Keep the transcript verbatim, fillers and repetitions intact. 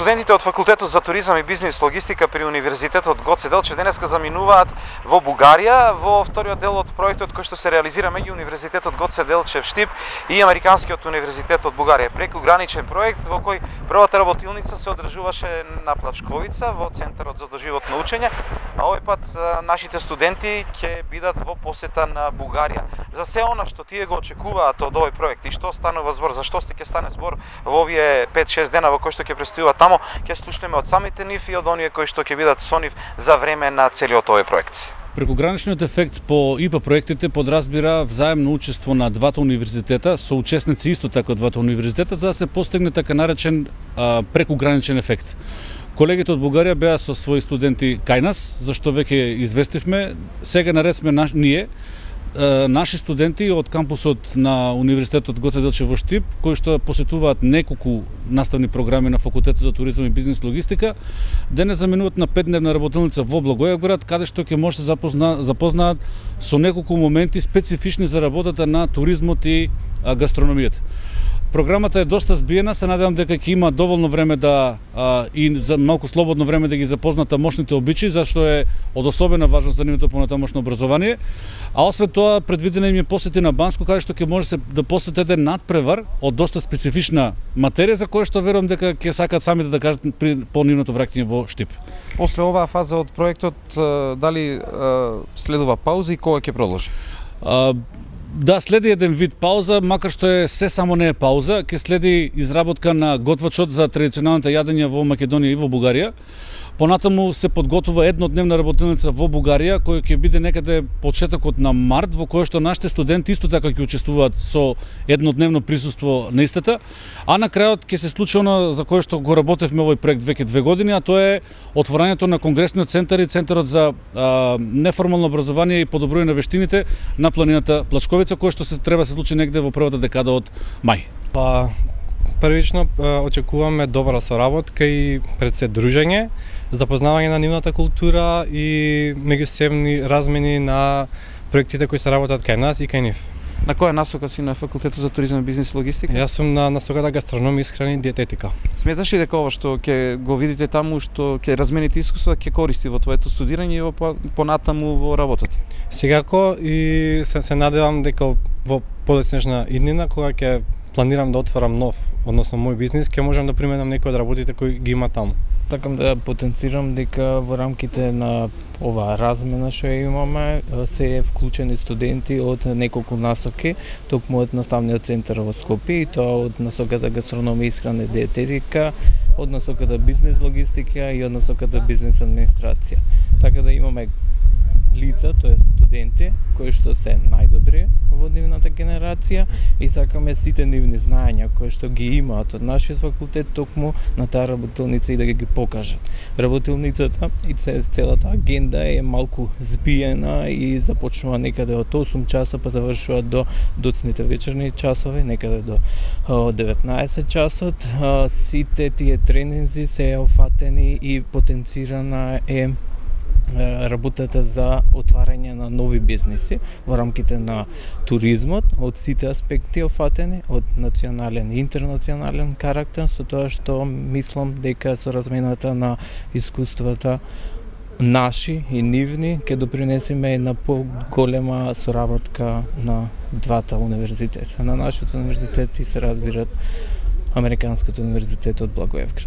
Студентите од факултетот за туризам и бизнис логистика при Универзитетот Гоце Делчев денеска заминуваат во Бугарија во вториот дел од проектот кој што се реализира меѓу Универзитетот Гоце Делчев Штип и Американскиот универзитет од Бугарија. Прекуграничен проект во кој првата работилница се одржуваше на Плачковица во Центарот за доживотно учење, а овој пат нашите студенти ќе бидат во посета на Бугарија. За се она што тие го очекуваат од овој проект и што станува збор, за што сте ќе стане збор во овие пет-шест дена во кои што ќе престојуваат тамо, ќе слушнеме од самите нив и од оние кои што ќе бидат со нив за време на целиот овој проект. Прекуграничниот ефект по ИПА проектите подразбира взаемно учество на двата универзитета со учесници исто така од двата универзитета за да се постигне така наречен а, прекуграничен ефект. Колегите од Бугарија беа со своји студенти кај нас, зашто веќе известивме, сега наред сме наш, ние наши студенти од кампусот на Универзитетот Гоце Делчев во Штип, кои што посетуваат неколку наставни програми на факултетот за туризам и бизнис логистика, денес заминуваат на петдневна работилница во Благоевград, каде што ќе може се запозна, запознаат со неколку моменти специфични за работата на туризмот и гастрономијата. Програмата е доста збиена, се надевам дека ќе има доволно време да а, и за малку слободно време да ги запознат тамошните обичаи, зашто е од особена важност за нивното понатамошно образование. А освен тоа предвидена им е посети на Банско, каде што ќе може се да посетите надпревар од доста специфична материја за која што верувам дека ќе сакаат самите да кажат при по нивното враќање во Штип. После оваа фаза од проектот дали следува пауза и кога ќе продолжи? А, Да, следи еден вид пауза, макар што е се само не е пауза, ќе следи изработка на готвачот за традиционалните јадења во Македонија и во Бугарија. Понатаму се подготвува еднодневна работилница во Бугарија, која ќе биде некаде почетокот на март, во која што нашите студенти исто така ќе учествуваат со еднодневно присуство на истата, а на крајот ќе се случи она за кое што го работевме овој проект веќе две години, а тоа е отворањето на Конгресниот центар и Центарот за а, неформално образование и подобрување на вештините на планината Плачковица, кој што се треба се случи негде во првата декада од мај. Па првично очекуваме добра соработка и пред се дружење, запознавање на нивната култура и меѓусебни размени на проектите кои се работат кај нас и кај нив. На која насока си на факултетот за туризам и бизнис логистика? Јас сум на насоката гастрономија, исхрана и диететика. Сметаш ли дека ова што ќе го видите таму, што ќе размените искуства, ќе користи во твоето студирање и во понатаму во работата? Секако и се, се надевам дека во подоцнежна иднина кога ќе планирам да отворам нов, односно мој бизнис, ќе можам да применам некои од работите кои ги има таму. Такам да потенцирам дека во рамките на оваа размена што ја имаме се вклучени студенти од неколку насоки, токму од наставниот центар во Скопје и тоа од насоката гастрономија, исхрана и диететика, од насоката бизнис логистика и од насоката бизнис администрација. Така да имаме лица, тоа студенти, кои што се најдобри во нивната генерација и сакаме сите нивни знаења кои што ги имаат од нашиот факултет токму на таа работилница и да ги покажат. Работилницата и целата агенда е малку збиена и започнува некаде од осум часа па завршува до доцните вечерни часови, некаде до деветнаесет часот. Сите тие тренинзи се офатени и потенцирана е работата за отварање на нови бизниси во рамките на туризмот, од сите аспекти офатени, од национален и интернационален карактер, со тоа што мислам дека со размената на искуствата наши и нивни ќе допринесеме една поголема соработка на двата универзитета. На нашиот универзитет и се разбират Американскиот универзитет од Благоевград.